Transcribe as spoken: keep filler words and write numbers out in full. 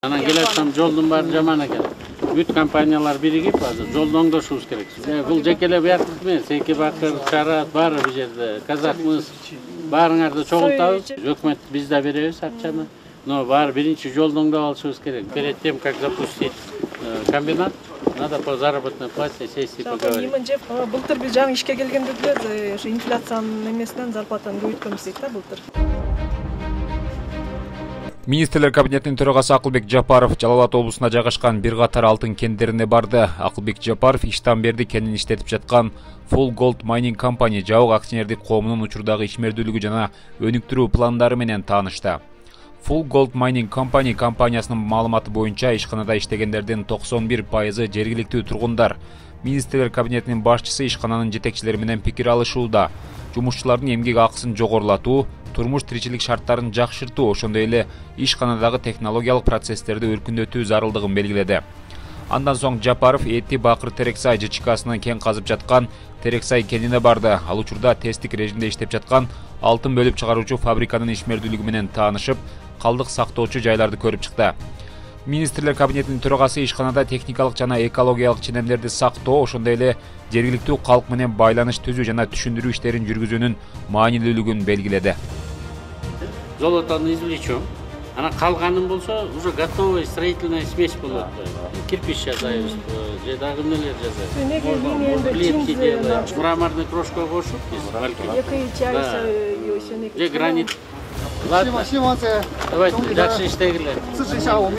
Анан келатсам жолдун баары жаман экен. Бүт компаниялар биригип азыр жолду оңдошубуз керек. Бул жекелеп бияктык эмес, эки бакыр, чарат баары бул жерде. Казакмыз баарыңарды чогултабыз. Өкмөт биз да беребиз акчаны. Но баары биринчи жолду оңдоп алышыбыз керек. Перед тем, как запустить комбинат, надо по заработной плате сесть и поговорить. Былтыр биз жаңы ишке келгенде деле ошо инфляциянын эмесинен зарплатаны көбөйткөнбүз дейт да былтыр. Министрлер кабинетинин төрагасы Акылбек Жапаров Жалал Абад облусуна жайгашкан бир катар алтын кендерине барды. Акылбек Жапаров иштан берди кенин иштетип жаткан Full Gold Mining Company жабык акционердик коомунун учурдагы ишмердүүлүгү жана өнүктүрүү пландары менен таанышты. Full Gold Mining Company компаниясынын маалыматы боюнча ишканада иштегендердин токсон бир пайызы жергиликтүү тургундар. Министрлер кабинетинин башчысы ишкананын жетекчилери менен пикир алышууда. Жумушчулардын эмгек акысын жогорулатуу, турмуш тиричилик шарттарын жакшыртуу, ошондой эле ишканадагы технологиялык процесстерди өркүндөтүү зарылдыгын белгиледи. Андан соң Жапаров Эти Бакыр Терексай ЖЧКсынын кен казып жаткан Терексай кенине барды. Ал учурда тесттик режимде иштеп жаткан алтын бөлүп чыгаруучу фабриканын ишмердүүлүгү менен таанышып, калдык сактоочу жайларды көрүп чыкты. Министрлер кабинетинин төрагасы ишканада техникалык жана экологиялык ченемдерди сактоо, ошондой эле жергиликтүү калк менен байланыш түзүү жана түшүндүрүү иштерин жүргүзүүнүн маанилүүлүгүн белгиледи. Золотону извлечем. Она калганын болсо уже готовая строительная смесь болот. Кирпич жасайбыз, же дагы эмнелер жасайбыз. Плитки делаем, мраморный крошка кошуп, балким. Же гранит. Ладно. Давайте дальше иштегиле.